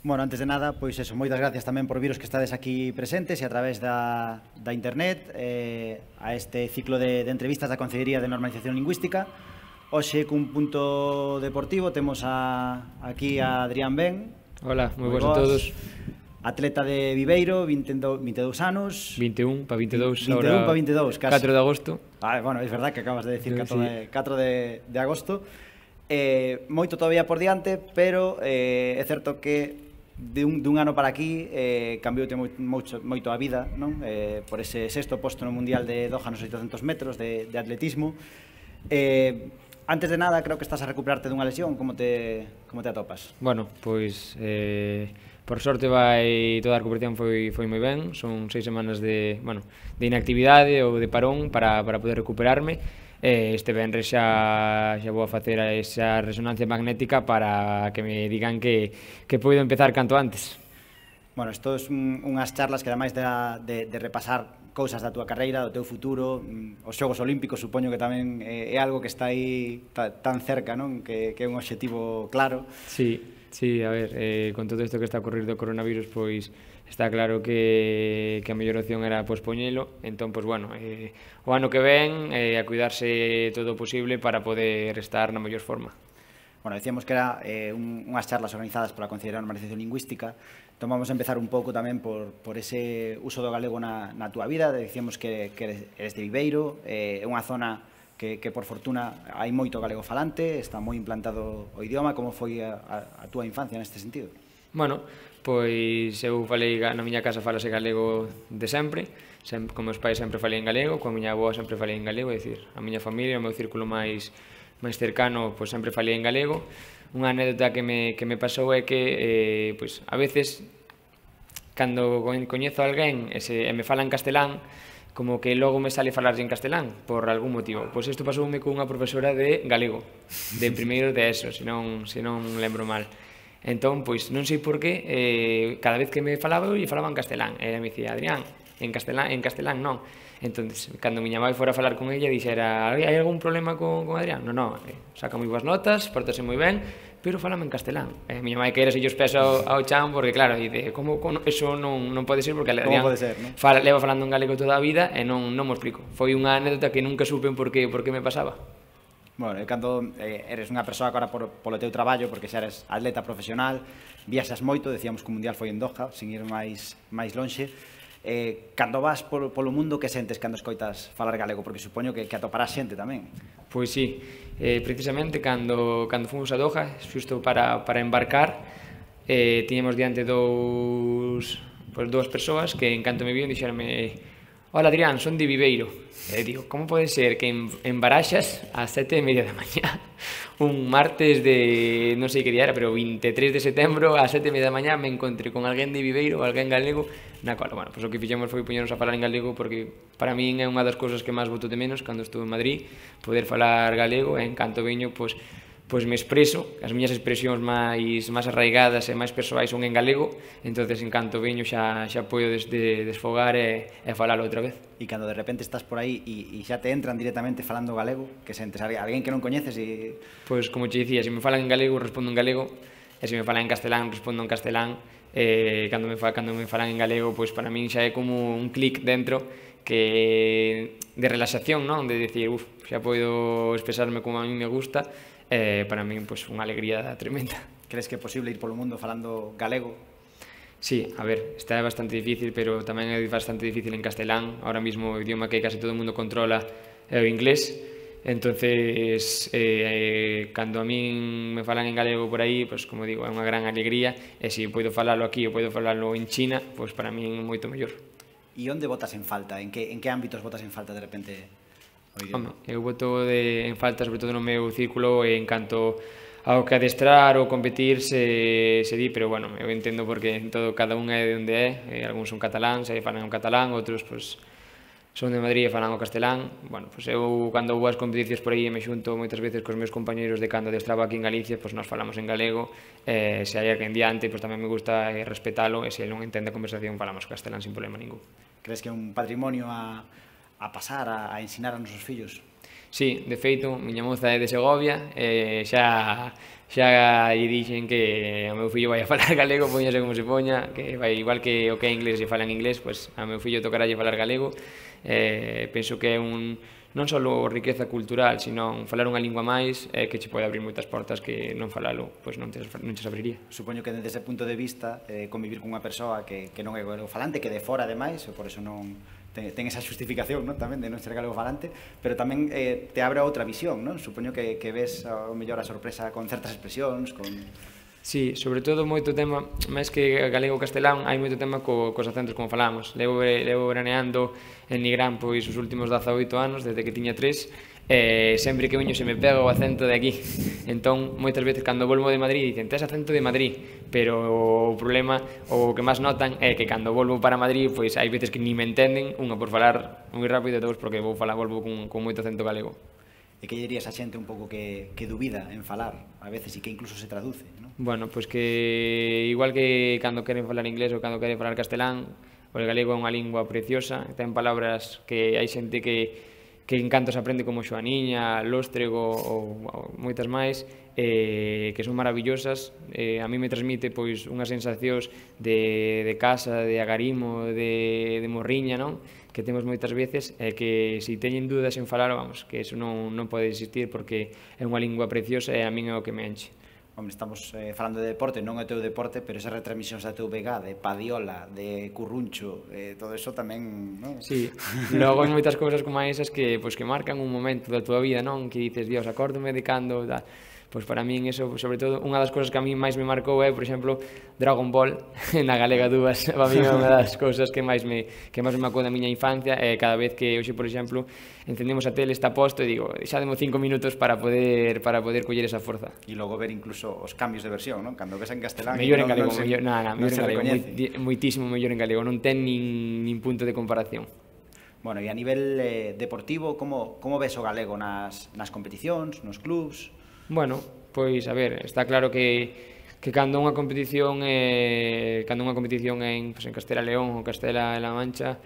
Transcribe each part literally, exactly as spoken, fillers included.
Bueno, antes de nada, pois eso, moitas gracias tamén por viros que estades aquí presentes e a través da, da internet eh, a este ciclo de, de entrevistas da Consellería de Normalización Lingüística. Hoxe, cun punto deportivo, temos a, aquí a Adrián Ben. Hola, moi boas a todos. Atleta de Viveiro, vinte e dous anos. vinte e un para vinte e dous, vinte e un ahora para vinte e dous, casi. catro de agosto. Ah, bueno, é verdad que acabas de decir catro, Sí. de, catro de, de agosto. Eh, moito todavía por diante, pero eh, é certo que de un, dun ano para aquí eh, cambioute moito, moito a vida, non? Eh, por ese sexto posto no Mundial de Doha nos oitocentos metros de, de atletismo. Eh, antes de nada, creo que estás a recuperarte dunha lesión. Como te, como te atopas? Bueno, pois eh, por sorte vai toda a recuperación foi, foi moi ben. Son seis semanas de, bueno, de inactividade ou de parón para, para poder recuperarme. Eh, este venres xa, xa vou a facer esa resonancia magnética para que me digan que, que poido empezar canto antes. Bueno, isto é un, unhas charlas que ademais de, de, de repasar cousas da túa carreira, do teu futuro, os Xogos Olímpicos supoño que tamén é, é algo que está aí tan cerca, non? Que, que é un obxectivo claro. Sí, sí, a ver, eh, con todo isto que está a ocurrir do coronavirus, pois está claro que, que a mellor opción era pospoñelo. Entón, pois bueno, eh, o ano que ven eh, a cuidarse todo o posible para poder estar na mellor forma. Bueno, decíamos que era eh, un, unhas charlas organizadas pola Consellería de Normalización Lingüística. Entón vamos a empezar un pouco tamén por, por ese uso do galego na, na túa vida. Decíamos que, que eres de Viveiro, é eh, unha zona que, que por fortuna hai moito galego falante, está moi implantado o idioma. Como foi a, a, a túa infancia neste sentido? Bueno, pois eu falei, na miña casa falase galego de sempre, sempre con meus pais sempre falei en galego, con a miña avó sempre falei en galego, é dicir, a miña familia, o meu círculo máis máis cercano, pois sempre falei en galego. Unha anécdota que me, que me pasou é que, eh, pois, a veces, cando coñezo a alguén e, se, e me fala en castelán, como que logo me sale falar en castelán, por algún motivo. Pois isto pasoume cunha profesora de galego, de primeiro de eso, se non, se non lembro mal. Entón, pois, non sei por qué, eh, cada vez que me falaba, eu lle falaba en castelán. E ela me dicía, Adrián, en castelán, en castelán non. Entón, cando miña mãe fora a falar con ella, dixera, hai algún problema con, con Adrián? Non, non, eh, saca moi boas notas, portase moi ben, pero falame en castelán. E miña mãe queira se os pés ao, ao chan, porque claro, dice, como, como eso non, non pode ser, porque Adrián ser, ¿no? fala, leva falando en galego toda a vida e non, non mo explico. Foi unha anécdota que nunca supe por que, por que me pasaba. Bueno, e cando eh, eres unha persoa agora por, polo teu traballo, porque xa eres atleta profesional, viaxas moito, decíamos que o Mundial foi en Doha, sin ir máis, máis lonxe. Eh, cando vas polo, polo mundo, que sentes cando escoitas falar galego? Porque supoño que, que atoparás xente tamén. Pois sí, eh, precisamente cando, cando fomos a Doha, xusto para, para embarcar, eh, tiñamos diante dous, pois, dúas persoas que en canto me vion dixeronme, hola Adrián, son de Viveiro. E digo, como pode ser que en, en Baraxas a sete e media da mañá, un martes de, non sei que día era, pero vinte e tres de setembro a sete e media da mañá me encontré con alguén de Viveiro, alguén galego, na cual, bueno, pois o que fixemos foi poñernos a falar en galego, porque para min é unha das cousas que máis boto de menos cando estuve en Madrid, poder falar galego, e en canto veño, pois, pois me expreso, as miñas expresións máis máis arraigadas e máis persoais son en galego, entonces en canto veño xa xa podo desde desfogar e, e falalo outra vez. E cando de repente estás por aí e, e xa te entran directamente falando galego, que sentes a alguén que non coñeces e... Pois como te dicía, se me falan en galego respondo en galego, e se me falan en castelán respondo en castelán, e cando me, cando me falan en galego, pois para min xa é como un clic dentro que de relaxación, non? De decir, uf, xa podo expresarme como a mí me gusta, e para min pois unha alegría tremenda. Crees que é posible ir polo mundo falando galego? Sí, a ver, está bastante difícil, pero tamén é bastante difícil en castelán. Ahora mismo o idioma que casi todo o mundo controla é o inglés. Entonces, eh, cando a min me falan en galego por aí, pois, como digo, é unha gran alegría. E se podo falalo aquí ou podo falalo en China, pois para min é moito mellor. E onde botas en falta? En que, en que ámbitos botas en falta de repente o idioma? Home, eu boto de, en falta, sobre todo no meu círculo, en canto ao que adestrar ou competir se, se di, pero bueno, eu entendo porque en todo, cada un é de onde é, eh, algúns son cataláns e falan o catalán, outros pois, son de Madrid e falan o castelán. Bueno, pois eu cando vou ás competicións por aí me xunto moitas veces cos meus compañeiros de cando adestraba aquí en Galicia, pois nos falamos en galego, e se hai alguén diante, pois tamén me gusta respetalo, e se non entende a conversación falamos castelán sin problema ningún. Crees que é un patrimonio a, a pasar, a, a ensinar a nosos fillos? Sí, de feito, miña moza é de Segovia, e xa xa lle dixen que o meu fillo vai a falar galego, poñase como se poña, que vai igual que o que é inglés e fala en inglés, pois a meu fillo tocará falar galego. Eh, penso que é un non só riqueza cultural, sino falar unha lingua máis eh, que che pode abrir moitas portas que non falalo, pois non te, non te abriría. Supoño que desde ese punto de vista eh, convivir con unha persoa que, que non é galego falante, que de fora ademais, e por eso non ten, ten esa justificación, non, tamén de non ser galego falante, pero tamén eh, te abre a outra visión, non? Supoño que, que ves ao mellor a sorpresa con certas expresións, con... Sí, sobre todo moito tema, máis que galego castelán, hai moito tema co, cos acentos, como falamos. Levo, levo veraneando en Nigrán pois os últimos dezaoito anos, desde que tiña tres, e sempre que veño se me pega o acento de aquí. Entón, moitas veces, cando volvo de Madrid, dicen, tes acento de Madrid, pero o problema, o que máis notan, é que cando volvo para Madrid, pois hai veces que ni me entenden, unha por falar moi rápido, e dous porque vou falar, volvo con, con moito acento galego. E que dirías a xente un pouco que, que dubida en falar, a veces, e que incluso se traduce, non? Bueno, pois que igual que cando queren falar inglés ou cando queren falar castelán, o galego é unha lingua preciosa, ten palabras que hai xente que que en canto se aprende como xoaniña, lóstrego ou, ou moitas máis, eh, que son maravillosas. Eh, a mí me transmite pois unhas sensacións de, de casa, de agarimo, de, de morriña, non? Que temos moitas veces, e que se teñen dúdas en falar, vamos, que eso non, non pode existir porque é unha lingua preciosa e a min é o que me enche. Hombre, estamos eh, falando de deporte, non é o teu deporte, pero esas retransmisións da T V G, de Padiola, de Curruncho, eh, todo eso tamén, non? Sí, logo hai moitas cousas como esas que, pois, que marcan un momento da túa vida, non? Que dices, Dios, acórdome de cando... Da... Pois para min eso, sobre todo, unha das cousas que a mí máis me marcou é, por exemplo, Dragon Ball, na Galega dúas, para mí é unha das cousas que máis me que máis me marcou da miña infancia, e cada vez que hoxe, por exemplo, encendemos a tele, está posto, e digo, xa demo cinco minutos para poder para poder coller esa forza. E logo ver incluso os cambios de versión, non? Cando ves en castelán... Mellor en galego, non se, mellor, na, na, mellor non en galego, moi, moitísimo mellor en galego, non ten nin, nin punto de comparación. Bueno, e a nivel eh, deportivo, como, como ves o galego nas, nas competicións, nos clubs? Bueno, pois, a ver, está claro que que cando unha competición é cando unha competición en, pues, en Castela León ou Castela La Mancha,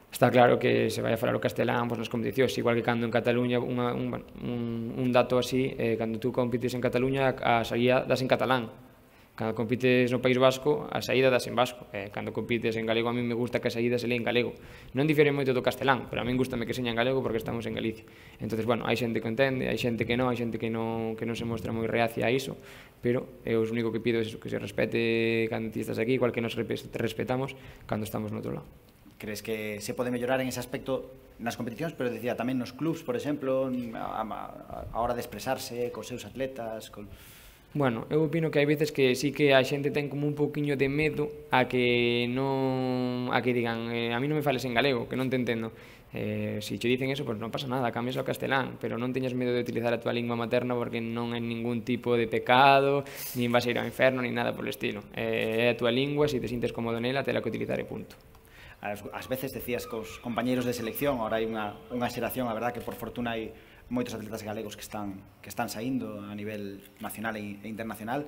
está claro que se vai a falar o castelán, pois, nas competicións, igual que cando en Cataluña, unha, un, un, un dato así, eh, cando tú compites en Cataluña, a saída das en catalán. Cando compites no País Vasco, a saída das en vasco. Eh, cando compites en galego, a mí me gusta que a saída se lee en galego. Non difere moito do castelán, pero a mí gustame que seña en galego porque estamos en Galicia. Entonces, bueno, hai xente que entende, hai xente que non, hai xente que non, que non se mostra moi reacia a iso, pero eu o único que pido é eso, que se respete cando ti estás aquí, igual que nos respetamos cando estamos no outro lado. Crees que se pode mellorar en ese aspecto nas competicións, pero decía tamén nos clubs, por exemplo, a, a, a hora de expresarse cos seus atletas, con... Bueno, eu opino que hai veces que sí que a xente ten como un pouquiño de medo a que non a que digan, eh, a mí non me fales en galego, que non te entendo. Eh, se che dicen eso, pois pues non pasa nada, cambias ao castelán, pero non teñas medo de utilizar a tua lingua materna porque non é ningún tipo de pecado, nin vas a ir ao inferno, nin nada polo estilo. Eh, é a tua lingua, se te sintes cómodo nela, tela que utilizar e punto. Ás veces decías cos compañeiros de selección, ahora hai unha, unha xeración, a verdad que por fortuna hai moitos atletas galegos que están que están saindo a nivel nacional e internacional.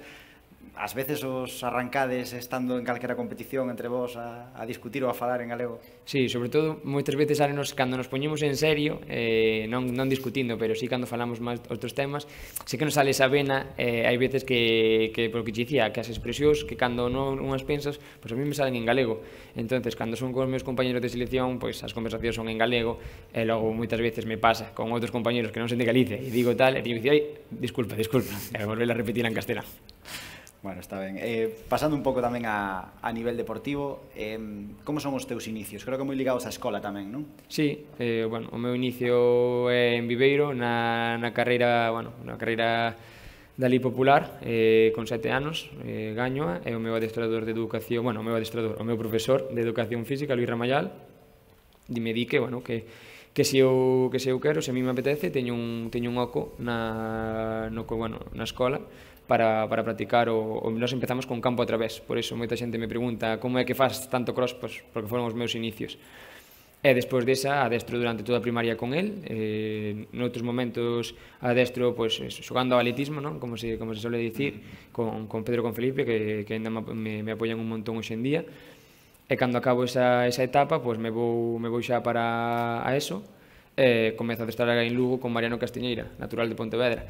Ás veces os arrancades estando en calquera competición entre vos a, a discutir ou a falar en galego? Sí, sobre todo, moitas veces nos, cando nos poñemos en serio, eh, non, non discutindo, pero sí cando falamos máis outros temas, sí que nos sale esa vena, eh, hai veces que, que por que te dicía, que as expresións, que cando non unhas pensas, pois a mí me salen en galego. Entonces, cando son con os meus compañeros de selección, pois as conversacións son en galego, e logo moitas veces me pasa con outros compañeros que non son de Galicia, e digo tal, e teño que dicir, ai, disculpa, disculpa, e volver a repetir en castelán. Bueno, está ben. Eh, pasando un pouco tamén a, a nivel deportivo, eh, como son os teus inicios? Creo que moi ligados á escola tamén, non? Sí, eh, bueno, o meu inicio é en Viveiro, na, na carreira, bueno, na carreira Dalí popular, eh, con sete anos, eh, gañoa, e o meu adestrador de educación, bueno, o meu adestrador, o meu profesor de educación física, Luis Ramayal, me di que, bueno, que que se eu que se eu quero, se a mí me apetece, teño un teño un oco na no bueno, na escola para para practicar o, o nós empezamos con campo a través. Por iso moita xente me pregunta como é que faz tanto cross, pois porque foron os meus inicios. E despois desa adestro durante toda a primaria con el, eh, noutros momentos adestro pois xogando ao atletismo, non? Como se como se suele dicir, con con Pedro con Felipe que que ainda me me apoian un montón hoxe en día. E cando acabo esa, esa etapa, pois me vou, me vou xa para a ESO, e comeza a adestrar en Lugo con Mariano Castiñeira, natural de Pontevedra.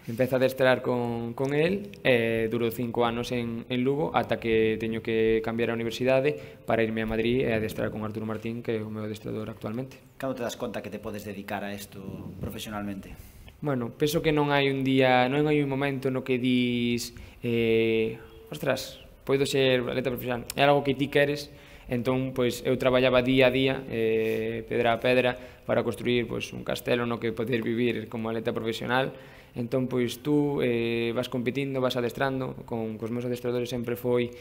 Empeza a adestrar con, con el, e durou cinco anos en, en Lugo, ata que teño que cambiar a universidade para irme a Madrid e adestrar con Arturo Martín, que é o meu adestrador actualmente. Cando te das conta que te podes dedicar a isto profesionalmente? Bueno, penso que non hai un día, non hai un momento no que dis eh, ostras, podo ser atleta profesional, é algo que ti queres. Entón, pois, eu traballaba día a día, eh, pedra a pedra, para construir pois, un castelo no que poder vivir como atleta profesional. Entón, pois, tú eh, vas competindo, vas adestrando, con cos meus adestradores sempre foi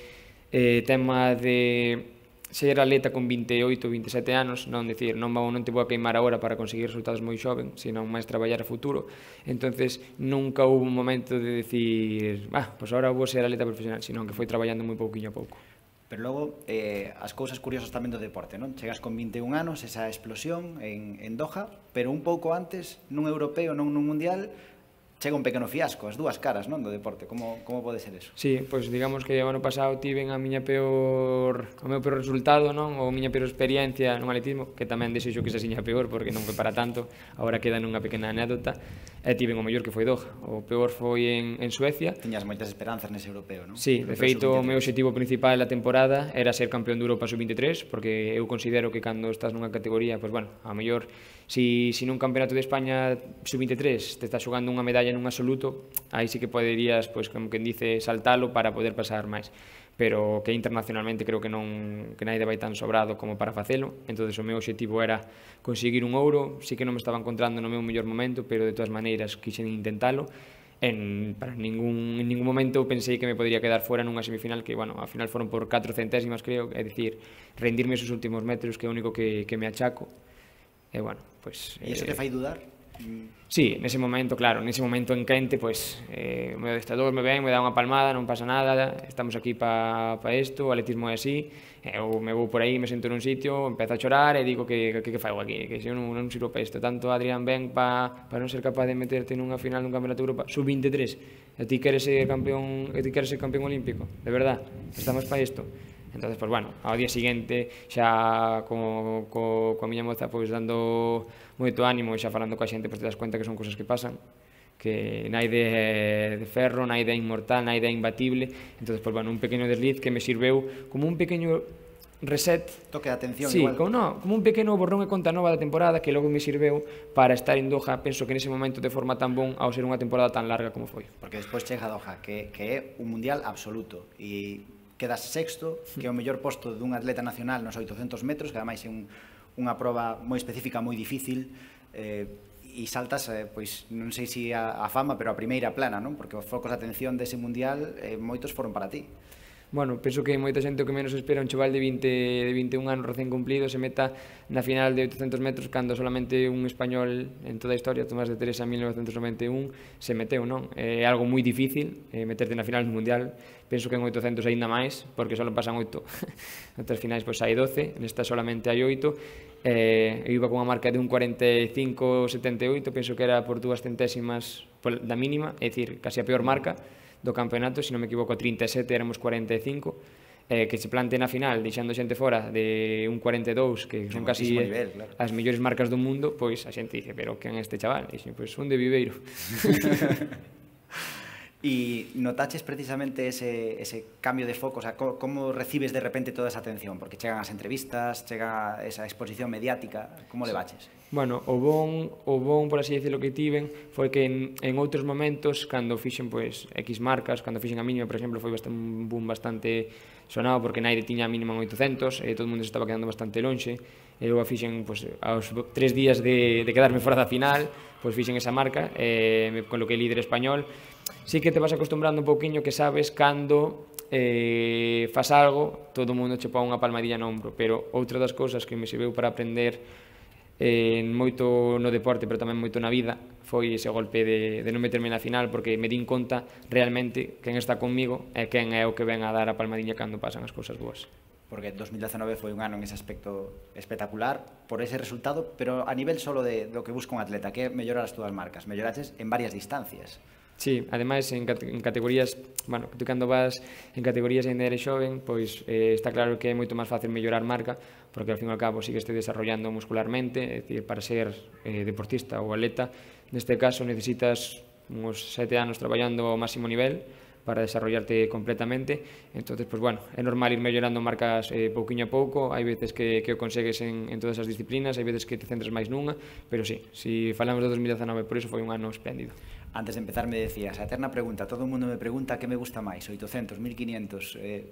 eh, tema de ser atleta con vinte e oito, vinte e sete anos, non dicir, non, vou, non te vou a queimar agora para conseguir resultados moi xoven, senón máis traballar a futuro. Entonces, nunca houve un momento de decir, ah, pois agora vou ser atleta profesional, senón que foi traballando moi pouquinho a pouco. Pero logo, eh, as cousas curiosas tamén do deporte, non? Chegas con vinte e un anos, esa explosión en, en Doha, pero un pouco antes, nun europeo, non nun mundial, chega un pequeno fiasco, as dúas caras, non, do deporte. Como, como pode ser eso? Sí, pois digamos que o ano pasado tiven a miña peor, o meu peor resultado, non? Ou a miña peor experiencia nun atletismo, que tamén desexo que se siña peor, porque non foi para tanto, agora queda nunha pequena anécdota, e tiven o mellor que foi Doha. O peor foi en, en Suecia. Tiñas moitas esperanzas nese europeo, non? Sí, de feito, o meu objetivo principal da temporada era ser campeón de Europa sub vinte e tres, porque eu considero que cando estás nunha categoría, pois bueno, a mellor, si, si nun campeonato de España sub vinte e tres te estás xogando unha medalla nun absoluto, aí sí que poderías, pois, como quen dice, saltalo para poder pasar máis. Pero que internacionalmente creo que non que naide vai tan sobrado como para facelo. Entonces o meu objetivo era conseguir un ouro. Sí que non me estaba encontrando no meu mellor momento, pero de todas maneiras quixen intentalo. En, para ningún, en ningún momento pensei que me podría quedar fora nunha semifinal que, bueno, ao final foron por catro centésimas, creo, é dicir, rendirme esos últimos metros, que é o único que, que me achaco. E, bueno, pues... E iso te fai dudar? Sí, nese momento, claro, nese momento en quente, pois, eh, o meu adestrador me ven, me dá unha palmada, non pasa nada, estamos aquí para pa isto, o atletismo é así, eu me vou por aí, me sento nun sitio, empezo a chorar e digo que que, que fago aquí, que se eu non, non sirvo para isto, tanto Adrián ben para pa non ser capaz de meterte nunha final dun campeonato de Europa sub vinte e tres, e ti queres ser campeón, e ti queres ser campeón olímpico, de verdad, estamos para isto. Entonces, pues bueno, ao día seguinte xa co, co, coa miña moza pois dando moito ánimo e xa falando coa xente, pois te das cuenta que son cousas que pasan, que naide é de ferro, naide é inmortal, naide é imbatible. Entonces, pues bueno, un pequeno desliz que me sirveu como un pequeno reset, toque de atención, sí, igual. Como, no, como un pequeno borrón e conta nova da temporada que logo me sirveu para estar en Doha, penso que nese momento de forma tan bon ao ser unha temporada tan larga como foi. Porque despois chega a Doha, que, que é un mundial absoluto, e quedas sexto, que é o mellor posto dun atleta nacional nos oitocentos metros, que ademais é un, unha proba moi específica, moi difícil, eh, e saltas, eh, pois, non sei se a, a fama, pero a primeira plana, non? Porque os focos de atención dese mundial, eh, moitos foron para ti. Bueno, penso que moita xente o que menos espera un chaval de vinte, de vinte e un anos recén cumplido se meta na final de oitocentos metros cando solamente un español en toda a historia, Tomás de Teresa en mil novecentos noventa e un, se meteu, non? É algo moi difícil eh, meterte na final do mundial, penso que en oitocentos aínda máis, porque só pasan oito, outras finais pois hai doce, nesta solamente hai oito, eh, eu iba con unha marca de un cuarenta e cinco setenta e oito, penso que era por dúas centésimas da mínima, é dicir, casi a peor marca do campeonato, se non me equivoco, trinta e sete, éramos cuarenta e cinco, eh, que se plante na final, deixando xente fora de un cuarenta e dous, que son casi nivel, claro, as mellores marcas do mundo, pois a xente dice, pero quen é este chaval? E dixe, pois un de Viveiro. E notaches precisamente ese, ese cambio de foco, o sea, co, como recibes de repente toda esa atención? Porque chegan as entrevistas, chega esa exposición mediática, como le baches? Bueno, o bon, o bon, por así decirlo, que tiven foi que en, en outros momentos, cando fixen pois, X marcas, cando fixen a mínima, por exemplo, foi bastante, un boom bastante sonado, porque naide tiña a mínima en oitocentos, e todo o mundo se estaba quedando bastante lonxe, e eu a fixen, pois, aos tres días de, de quedarme fora da final, pois fixen esa marca, e me coloquei líder español. Sí que te vas acostumbrando un pouquiño que sabes cando eh, fas algo, todo o mundo che pon unha palmadilla no ombro, pero outra das cousas que me serviu para aprender eh, moito no deporte, pero tamén moito na vida, foi ese golpe de, de non meterme na final, porque me din conta realmente quen está conmigo e quen é o que ven a dar a palmadilla cando pasan as cousas boas. Porque dos mil dezenove foi un ano en ese aspecto espectacular por ese resultado, pero a nivel solo de do que busca un atleta, que é mellorar as túas marcas, melloraches en varias distancias. Sí, ademais en, cate en categorías, bueno, tú cando vas en categorías ainda eres xoven, pois eh, está claro que é moito máis fácil mellorar marca, porque ao fin e ao cabo sí que estés desarrollando muscularmente, é dicir, para ser eh, deportista ou atleta, neste caso necesitas uns sete anos traballando ao máximo nivel para desarrollarte completamente. Entonces, pues bueno, é normal ir mellorando marcas eh, pouquiño a pouco, hai veces que, que o consegues en, en todas as disciplinas, hai veces que te centras máis nunha, pero sí, si falamos de dos mil dezanove, por iso foi un ano espléndido. Antes de empezar me decías, a eterna pregunta, todo o mundo me pregunta que me gusta máis, oitocentos, mil quinientos, eh,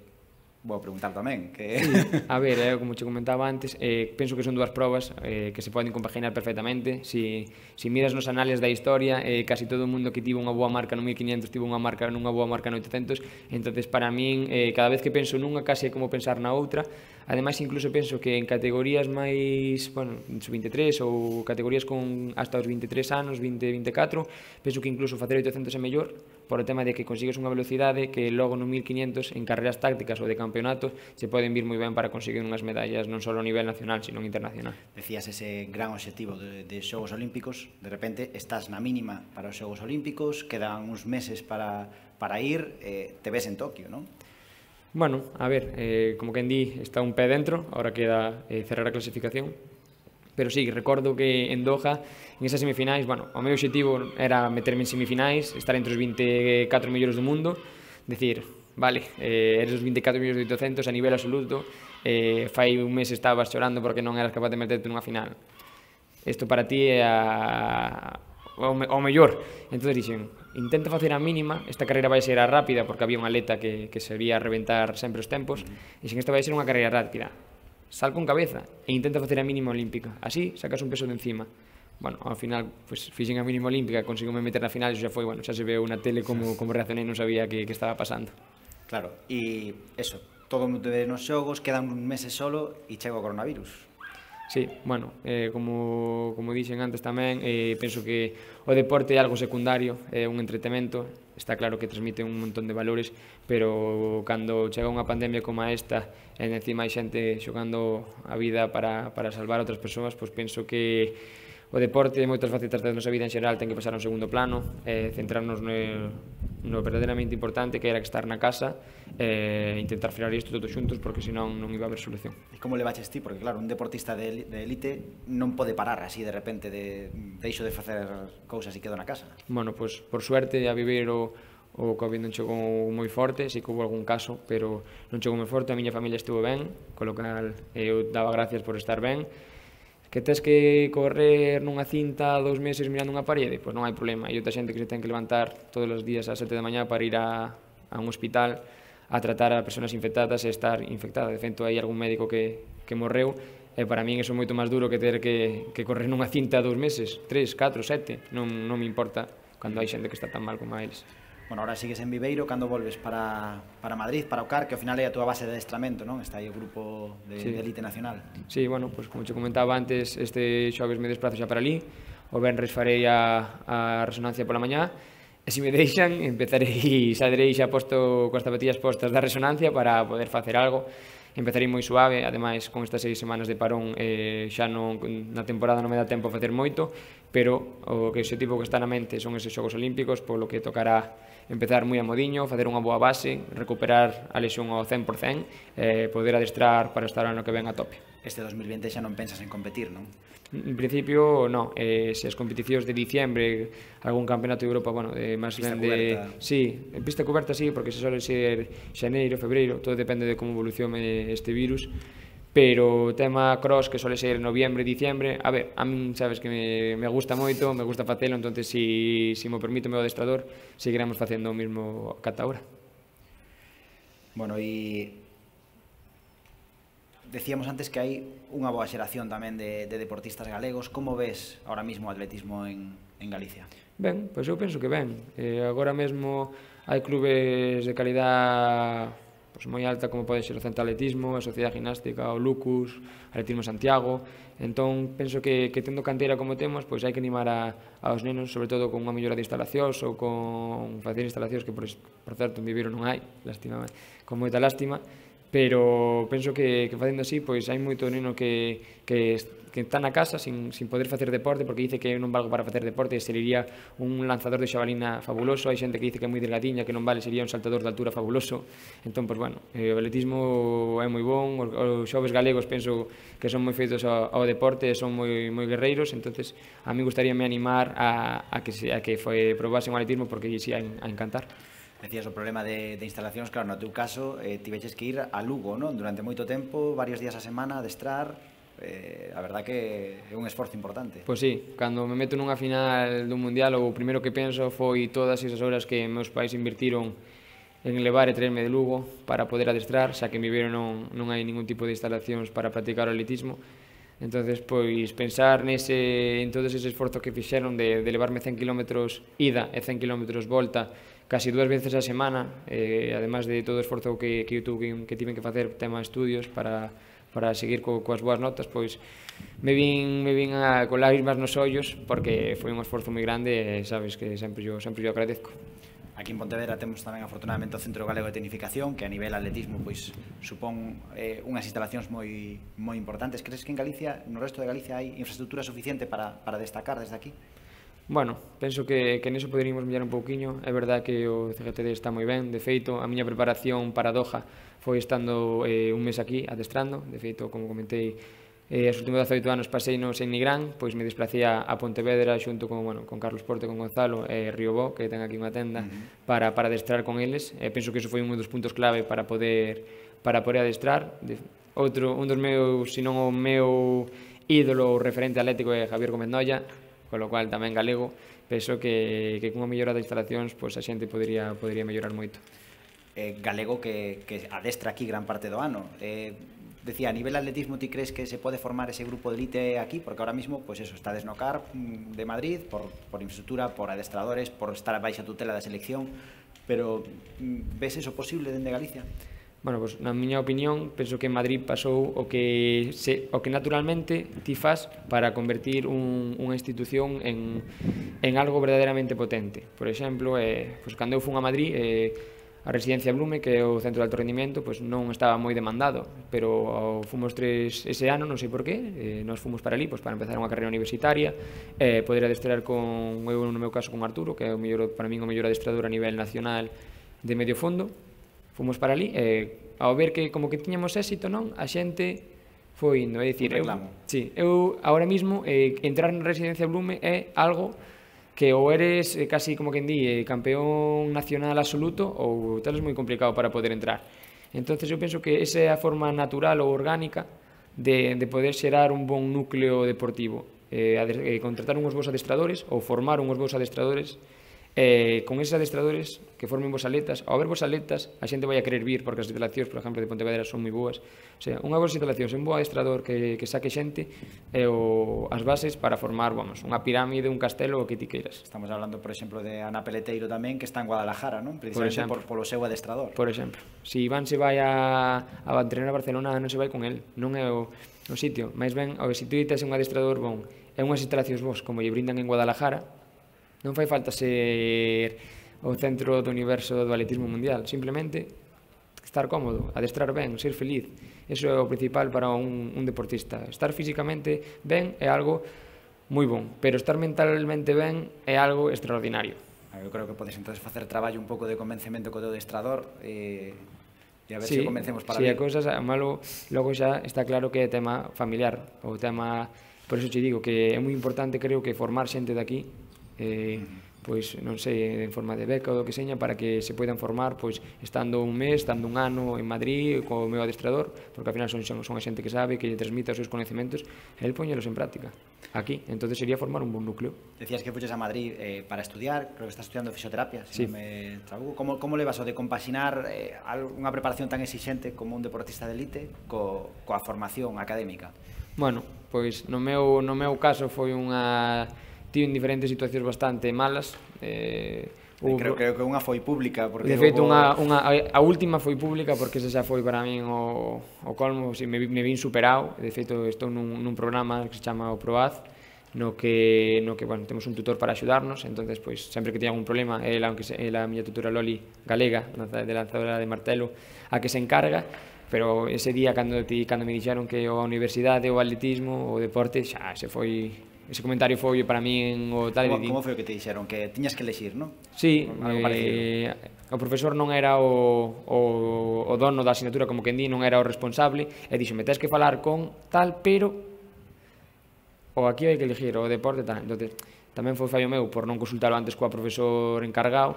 vou preguntar tamén. Que... Sí, a ver, eh, como te comentaba antes, eh, penso que son dúas probas eh, que se poden compaginar perfectamente. Si, si miras nos anales da historia, eh, casi todo o mundo que tivo unha boa marca no mil quinientos tivo unha marca nunha boa marca no oitocentos, entonces para min, eh, cada vez que penso nunha, casi é como pensar na outra. Ademais, incluso penso que en categorías máis, bueno, sub veintitrés ou categorías con hasta os veintitrés anos, veinte, veinticuatro, penso que incluso facer oitocentos é mellor, por o tema de que consigues unha velocidade que logo no mil quinientos en carreras tácticas ou de campeonatos se poden vir moi ben para conseguir unhas medallas non só a nivel nacional, sino internacional. Decías ese gran obxectivo de, de Xogos Olímpicos, de repente estás na mínima para os Xogos Olímpicos, quedan uns meses para, para ir, eh, te ves en Tokio, non? Bueno, a ver, eh, como quen di, está un pé dentro, ahora queda eh, cerrar a clasificación, pero sí, recordo que en Doha, en esas semifinais, bueno, o meu objetivo era meterme en semifinais, estar entre os veinticuatro mellores do mundo, decir, vale, eh, eres os veinticuatro mellores de oitocentos a nivel absoluto, eh, fai un mes estabas chorando porque non eras capaz de meterte nunha final. Isto para ti é a... o, me, o mellor. Entón dixen, intenta facer a mínima, esta carreira vai ser a rápida porque había un atleta que, que sería reventar sempre os tempos, e dixen, esta vai ser unha carreira rápida, sal con cabeza e intenta facer a mínima olímpica, así sacas un peso de encima. Bueno, ao final, pues, fixen a mínima olímpica, conseguime meter na final, e xa foi, bueno, xa se veu na tele como, como reaccionei, non sabía que, que estaba pasando. Claro, e eso, todo o mundo ve nos xogos, quedan un meses solo e chega o coronavirus. Sí, bueno, eh, como, como dixen antes tamén, eh, penso que o deporte é algo secundario, é un entretemento, está claro que transmite un montón de valores, pero cando chega unha pandemia como esta, e encima hai xente xogando a vida para, para salvar a outras persoas, pois penso que o deporte e moitas facetas da nosa vida en xeral ten que pasar a un segundo plano, eh, centrarnos no, no verdadeiramente importante, que era que estar na casa e eh, intentar frear isto todos xuntos, porque senón non iba a haber solución. E como le baches ti? Porque claro, un deportista de, de élite non pode parar así de repente de deixo de facer cousas e quedo na casa. Bueno, pois por suerte a vivir o, o Covid non chegou moi forte, si que houve algún caso, pero non chegou moi forte, a miña familia estuvo ben, con lo cal eu daba gracias por estar ben. Que tes que correr nunha cinta dous meses mirando unha parede, pois non hai problema. Hai outra xente que se ten que levantar todos os días ás sete da mañá para ir a, a un hospital a tratar a persoas infectadas e estar infectada. De feito, hai algún médico que, que morreu, e para min iso é moito máis duro que ter que, que correr nunha cinta dous meses, tres, catro, sete, non, non me importa cando hai xente que está tan mal como a eles. Bueno, ahora sigues en Viveiro, cando volves para, para Madrid, para o C A R, que ao final é a túa base de adestramento, non? Está aí o grupo de, sí. de elite nacional. Sí, bueno, pues como te comentaba antes, este xoves me desplazo xa para ali, o venres farei a, a resonancia pola mañá, e se me deixan, empezarei, saldrei xa posto coas zapatillas postas da resonancia para poder facer algo. Empezarei moi suave, ademais con estas seis semanas de parón eh, xa non, na temporada non me dá tempo a facer moito, pero o que objetivo que está na mente son eses Xogos Olímpicos, polo que tocará empezar moi a modiño, facer unha boa base, recuperar a lesión ao cen por cen, e eh, poder adestrar para estar ano que ven a tope. Este dos mil vinte xa non pensas en competir, non? En principio, non. Eh, se as competicións de diciembre, algún campeonato de Europa, bueno, de máis ben de... Sí, en pista coberta sí, porque se suele ser xaneiro, febreiro, todo depende de como evolucione este virus, pero o tema cross, que suele ser noviembre, diciembre, a ver, a min sabes que me, me gusta moito, me gusta facelo, entonces si, si mo permite o meu adestrador, seguiremos facendo o mismo cata ahora. Bueno, e decíamos antes que hai unha boa xeración tamén de, de deportistas galegos. Como ves ahora mismo o atletismo en, en Galicia? Ben, pois eu penso que ben. Eh, agora mesmo hai clubes de calidad pois, moi alta, como pode ser o Centro Atletismo, a Sociedade Gimnástica, o Lucus, Atletismo Santiago. Entón, penso que, que tendo canteira como temos, pois hai que animar a, aos nenos, sobre todo con unha mellora de instalacións ou con facer instalacións que, por, por certo, en Viveiro non hai, lástima, con moita lástima, pero penso que, que facendo así, pois hai moito neno que, que, que está na casa sin, sin poder facer deporte, porque dice que non valgo para facer deporte, e sería un lanzador de xabalina fabuloso. Hai xente que dice que é moi delgadiña, que non vale, sería un saltador de altura fabuloso. Entón, pois, bueno, o atletismo é moi bon, os xoves galegos penso que son moi feitos ao, ao deporte, son moi, moi guerreiros, entonces a mí gustaríame animar a, a que, se, a que foi, probasen o atletismo, porque si a, a encantar. Decías o problema de, de instalacións, claro, no teu caso eh, tiveches que ir a Lugo, non? Durante moito tempo, varios días a semana, a adestrar, eh, a verdad que é un esforzo importante. Pois sí, cando me meto nunha final dun mundial, o primeiro que penso foi todas esas horas que meus pais invirtiron en levar e traerme de Lugo para poder adestrar, xa que en Viveiro non, non hai ningún tipo de instalacións para practicar o atletismo. Entonces, pois, pensar nese, en todo ese esforzo que fixeron de, de levarme cen kilómetros ida e cen kilómetros volta, casi dúas veces a semana, eh, además de todo o esforzo que, que eu tuve, que tiven que facer tema de estudios para, para seguir co, coas boas notas, pois me vin, me vin a, con lágrimas nos ollos, porque foi un esforzo moi grande e sabes que sempre yo, sempre yo agradezco. Aquí en Pontevedra temos tamén afortunadamente o Centro Galego de Tecnificación, que a nivel atletismo pois supón eh, unhas instalacións moi moi importantes. Crees que en Galicia, no resto de Galicia, hai infraestructura suficiente para, para destacar desde aquí? Bueno, penso que, que neso poderíamos mellorar un pouquiño. É verdad que o C G T D está moi ben. De feito, a miña preparación para Doha foi estando eh, un mes aquí adestrando. De feito, como comentei, eh, os últimos dezaoito anos pasei no en Nigrán, pois me desplacei a Pontevedra xunto con, bueno, con Carlos Porte, con Gonzalo e Riobó, que ten aquí unha tenda, uh-huh. para, para adestrar con eles. E penso que iso foi un dos puntos clave para poder, para poder adestrar. De, outro, un dos meus, se non o meu ídolo referente atlético é Javier Gómez Noya, con lo cual tamén galego, penso que, que cunha mellora de instalacións pois a xente podería, podería mellorar moito. Eh, galego que, que adestra aquí gran parte do ano. Eh, decía, a nivel atletismo, ti crees que se pode formar ese grupo de elite aquí? Porque ahora mismo, pues eso, está no C A R de Madrid, por, por infraestructura, por adestradores, por estar a baixa tutela da selección, pero ves eso posible dende Galicia? Bueno, pues, na miña opinión, penso que en Madrid pasou o que, se, o que naturalmente ti faz para convertir un, unha institución en, en algo verdadeiramente potente. Por exemplo, eh, pues, cando eu fun a Madrid, eh, a residencia Blume, que é o centro de alto rendimento, pues, non estaba moi demandado, pero fomos tres ese ano, non sei por qué, eh, nos fomos para ali pues, para empezar unha carreira universitaria, eh, poder adestrar con, eu no meu caso con Arturo, que é o mellor, para min o mellor adestrador a nivel nacional de medio fondo. Fomos para ali e ao ver que como que tiñamos éxito, non, a xente foi indo, é dicir, eu, sí, eu agora mismo eh, entrar na residencia Blume é algo que ou eres eh, casi como quen di, eh, campeón nacional absoluto ou tal é moi complicado para poder entrar. Entonces eu penso que esa é a forma natural ou orgánica de, de poder xerar un bon núcleo deportivo, eh, eh, contratar unhos bons adestradores ou formar unhos bons adestradores. Eh, con esos adestradores que formen vos atletas, ao ver vos atletas a xente vai a querer vir, porque as instalacións, por exemplo, de Pontevedra son moi boas. O sea, unha boa instalación, un bo adestrador que, que saque xente e o, as bases para formar, vamos, unha pirámide, un castelo, o que ti queiras. Estamos hablando, por exemplo, de Ana Peleteiro tamén, que está en Guadalajara, non? Precisamente por, por, polo seu adestrador. Por exemplo, se si Iván se vai a, a entrenar a Barcelona, non se vai con el, non é o, o sitio, máis ben, o se ti tes un adestrador bon, e unhas instalacións vos, como lle brindan en Guadalajara, non fai falta ser o centro do universo do atletismo mundial, simplemente estar cómodo, adestrar ben, ser feliz. Eso é o principal para un, un deportista. Estar físicamente ben é algo moi bon, pero estar mentalmente ben é algo extraordinario. Eu creo que podes entonces facer traballo un pouco de convencemento co teu adestrador e, e a ver sí, se convencemos para sí, ver. Sí, a cousas, malo, logo xa está claro que é tema familiar, o tema, por eso te digo que é moi importante, creo que formar xente de aquí, eh, pois non sei, en forma de beca ou do que seña, para que se poidan formar pois estando un mes, estando un ano en Madrid co meu adestrador, porque ao final son, son, son a xente que sabe, que lle transmite os seus conhecimentos e el poñelos en práctica aquí, entonces sería formar un bon núcleo. Decías que fuches a Madrid eh, para estudiar, creo que estás estudiando fisioterapia, sí. Si non me trabuco. Como, como levas o de compaxinar eh, unha preparación tan exixente como un deportista de elite co, coa formación académica? Bueno, pois no meu, no meu caso foi unha tive en diferentes situacións bastante malas. Eh, hubo... creo, creo que unha foi pública. Porque de feito, hubo... unha, unha, a última foi pública porque esa xa foi para min o, o colmo, si, me, me vin superado. De feito, estou nun, nun programa que se chama o PROAZ, no que, no que bueno, temos un tutor para axudarnos, entonces pois, sempre que teña algún problema, ela, aunque se, ela, a miña tutora Loli galega, de lanzadora de martelo, a que se encarga. pero ese día cando, ti, cando me dixeron que a universidade, o atletismo, o deporte, xa, se foi, ese comentario foi para min o tal. Como, como foi o que te dixeron? Que tiñas que elegir, non? Sí, eh, o profesor non era o, o, o dono da asignatura, como quen di, non era o responsable, e dixo, me tes que falar con tal, pero o aquí hai que elegir o deporte tal. Entonces, tamén foi fallo meu por non consultalo antes coa profesor encargado,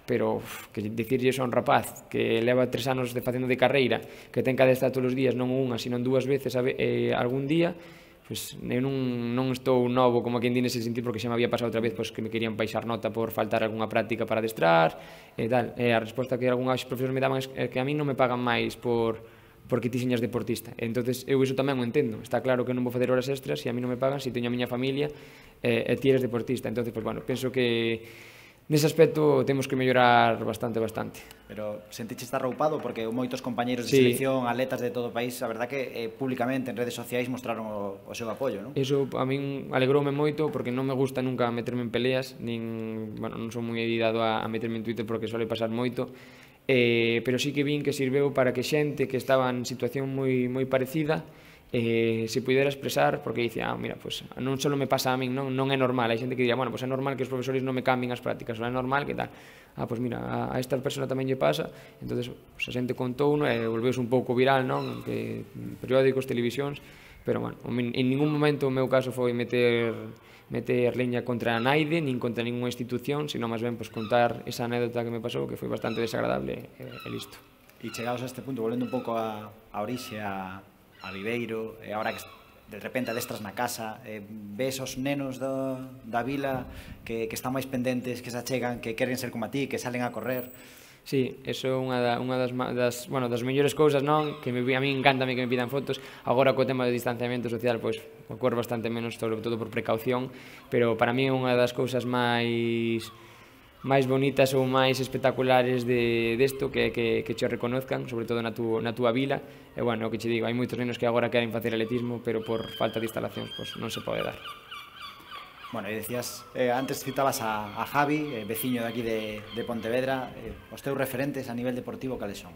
pero uf, que dicirlle iso a un rapaz que leva tres anos de facendo de carreira, que ten que adestrar todos os días, non unha, sino dúas veces a, eh, algún día, pois eu non, non estou novo como quen di nese sentido, porque xa me había pasado outra vez pois, que me querían baixar nota por faltar algunha práctica para adestrar e tal. E a resposta que algúns profesores me daban é que a mí non me pagan máis por porque ti señas deportista. Entonces eu iso tamén o entendo. Está claro que non vou facer horas extras se a mí non me pagan, se teño a miña familia e, e ti eres deportista. Entonces, pues, bueno, penso que nese aspecto temos que mellorar bastante, bastante. Pero sentiche estar roupado porque moitos compañeiros de sí. selección, atletas de todo o país, a verdad que eh, públicamente en redes sociais mostraron o, o seu apoio, non? Eso a min alegroume moito porque non me gusta nunca meterme en peleas, nin, bueno, non son moi dado a, a meterme en Twitter porque suele pasar moito, eh, pero sí que vin que sirveu para que xente que estaba en situación moi, moi parecida eh, se pudera expresar, porque dicía, ah, mira, pues, non só me pasa a min, non, non é normal, hai xente que diría, bueno, pues é normal que os profesores non me cambien as prácticas, non é normal que tal, ah, pues mira, a, a esta persona tamén lle pasa, entonces pues, a xente contou, no, e volveuse un pouco viral, non, que periódicos, televisións, pero, bueno, en ningún momento o meu caso foi meter meter leña contra a naide, nin contra ninguna institución, sino máis ben pues, contar esa anécdota que me pasou, que foi bastante desagradable, e, e listo. E chegados a este punto, volvendo un pouco a, a orixe, a a Viveiro, e agora que de repente adestras na casa, eh, ves os nenos do, da vila que, que están máis pendentes, que se achegan, que queren ser como a ti, que salen a correr. Sí, eso é unha, da, unha das, das, bueno, das mellores cousas, non? Que me, a mí encantame que me pidan fotos. Agora co tema do distanciamento social, pois, ocorre bastante menos, sobre todo por precaución, pero para mí é unha das cousas máis máis bonitas ou máis espectaculares de desto que, que, que che reconozcan, sobre todo na, tu, na túa vila. E, bueno, o que che digo, hai moitos nenos que agora queren facer atletismo, pero por falta de instalacións, pois, non se pode dar. Bueno, e decías, eh, antes citabas a, a Javi, eh, veciño de aquí de, de Pontevedra, eh, os teus referentes a nivel deportivo, cales son?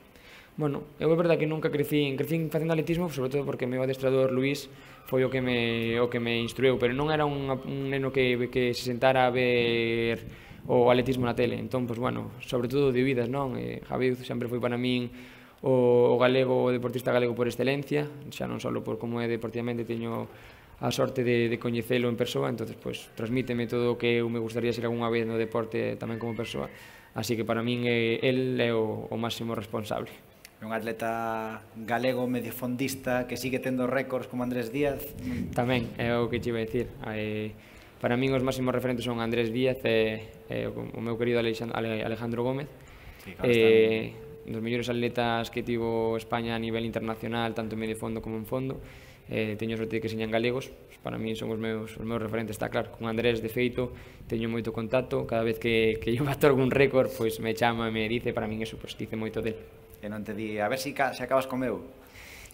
Bueno, eu é verdade que nunca crecín, crecín facendo atletismo, sobre todo porque o meu adestrador Luís foi o que me, o que me instrueu, pero non era un, un neno que, que se sentara a ver o atletismo na tele, entón, pues, bueno, sobre todo de vidas, non? Eh, Javi sempre foi para min o, o galego, o deportista galego por excelencia, xa non só por como é deportivamente, teño a sorte de, de coñecelo en persoa, entonces, pues, transmíteme todo o que eu me gustaría ser algunha vez no deporte tamén como persoa, así que para min eh, el é o, o máximo responsable. Un atleta galego medio fondista que sigue tendo récords como Andrés Díaz. Tamén, é o que te iba a dicir. Eh, para min os máximos referentes son Andrés Díaz e, e o meu querido Alejandro Gómez. Sí, claro, eh, dos mellores atletas que tivo España a nivel internacional, tanto en medio fondo como en fondo. Eh, teño sorte de que señan galegos, pues para min son os meus, os meus referentes, está claro. Con Andrés, de feito, teño moito contacto, cada vez que, que eu bato algún récord, pois me chama e me dice, para min eso, pois dice moito del. E non te di, a ver se si, si acabas con meu.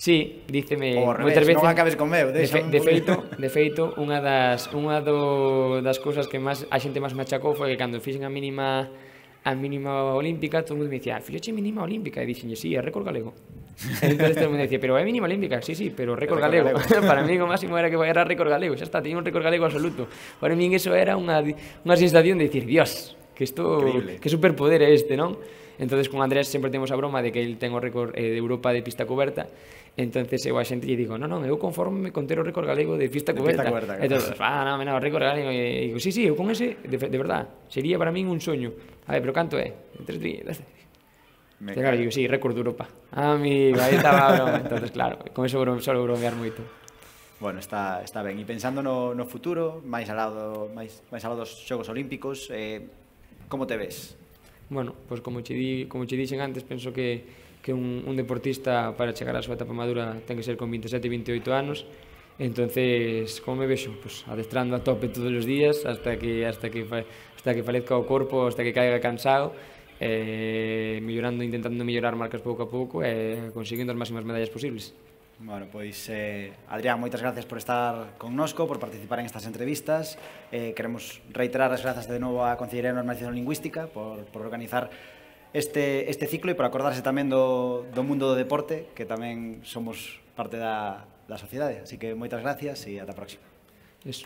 Sí, díceme o revés, non acabes con meu. De, fe, de feito, de feito, unha das unha do, das cousas que máis a xente máis me achacou foi que cando fixen a mínima a mínima olímpica, todo o mundo me dicía, fixoche mínima olímpica, e dixenlle, sí, é récord galego. Entonces todo o mundo dicía, pero é mínima olímpica, sí, sí, pero récord galego. Para mí o máximo era que era récord galego, xa está, teño un récord galego absoluto. Para mí eso era unha, unha sensación de dicir, Dios, que isto, que superpoder é este, non? Entonces con Andrés sempre temos a broma de que ele ten o récord eh, de Europa de pista coberta. Entonces eu a xente lle digo, non, non, eu conforme con ter o récord galego de pista de coberta. Pista coberta entonces, ah, non, non, o récord galego. E digo, sí, sí, eu con ese, de, de verdad, sería para min un soño. A ver, pero canto é? Tres días. Me claro, digo, sí, récord de Europa. Ah, amigo, aí estaba a broma. Entonces, claro, con eso solo bromear moito. Bueno, está, está ben. E pensando no, no futuro, máis alado, máis, máis alado dos Xogos Olímpicos, eh, como te ves? Bueno, pois pues como che di, como che dixen antes, penso que que un, un deportista para chegar á súa etapa madura ten que ser con veintisiete, veintioito anos. Entonces, como me vexo? Pues adestrando a tope todos os días hasta que hasta que hasta que falezca o corpo, hasta que caiga cansado, eh, mellorando, intentando mellorar marcas pouco a pouco e conseguindo as máximas medallas posibles. Bueno, pois, eh, Adrián, moitas gracias por estar connosco, por participar en estas entrevistas. Eh, queremos reiterar as grazas de novo á Consellería de Normalización Lingüística por, por organizar este, este ciclo e por acordarse tamén do, do mundo do deporte, que tamén somos parte da, da sociedade. Así que moitas gracias e ata a próxima. Eso.